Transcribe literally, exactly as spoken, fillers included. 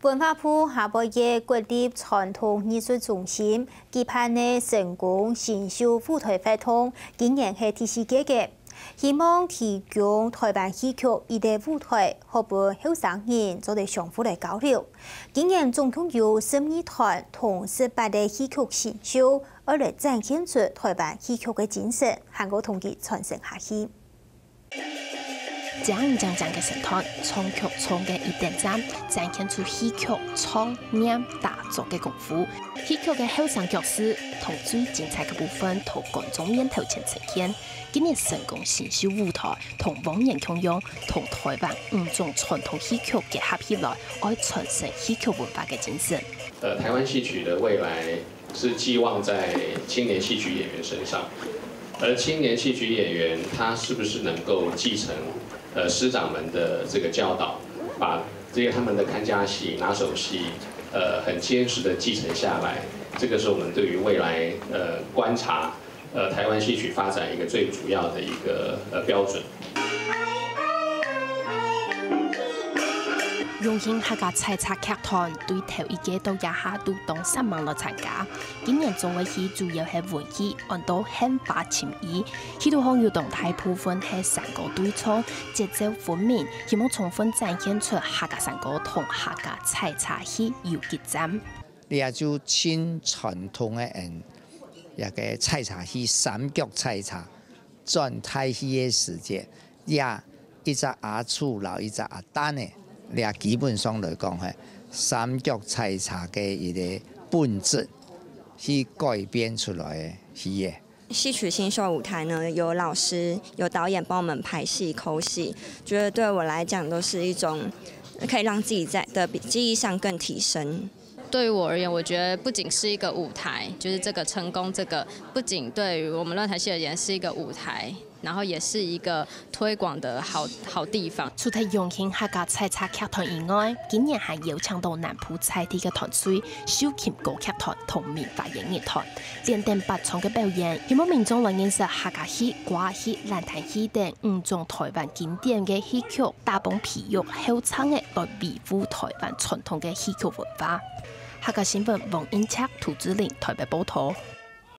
文化部下晡夜國立傳統藝術中心舉辦个成功新秀舞台活動，今年係第四屆个，希望提供台灣戲曲一個舞台，好分後生人做得相互來交流。今年總共有十二團同十八個戲曲新秀，愛來展現出台灣戲曲个精神，還過同佢傳承下去。 正正正个身段，唱曲唱个一點讚，展現出戲曲唱、念、打、做个功夫。戲曲个後生角色同最精彩个部分，同觀眾面頭前呈現。今年成功新秀舞台同往年共樣，同台灣五種傳統戲曲結合起來，愛傳承戲曲文化个精神。呃，台灣戲曲的未來是寄望在青年戏曲演员身上，而青年戏曲演员他是不是能够继承呃师长们的这个教导，把这个他们的看家戏、拿手戏，呃，很坚实的继承下来，这个是我们对于未来呃观察呃台湾戏曲发展一个最主要的一个呃标准。 榮興客家採茶劇團對頭一屆到這下都當煞猛來參加。今年做个戲主要係文戲，安到《獻花尋伊》，戲肚項有當大部分係山歌對唱，節奏分明，希望充分展現出客家山歌同客家採茶戲有幾讚。這就盡傳統个，嗯，這个採茶戲，三腳採茶，轉大戲个時節，也 一隻阿祖摎一隻阿旦呢，這基本上來講係三腳採茶个一個本質去改變出來个戲仔。戏曲新秀舞台呢，有老师、有导演幫我們排戲、摳戲，覺得對我來講都是一種可以讓自己在的技藝上更提升。对于我而言，我觉得不仅是一个舞台，就是这个成功，这个不仅对于我们乱弹戏而言是一个舞台，然后也是一个推广的好好地方。除忒榮興客家採茶劇團以外，今年還邀請到南部在地个團隊秀琴歌劇團同明華演藝團，連等八場个表演，希望民眾來認識客家戲、歌仔戲、爛攤戲等五種台灣經典个戲曲，打幫培育後生个來維護台灣傳統个戲曲文化。客家新聞黃英策、涂志玲台北報導。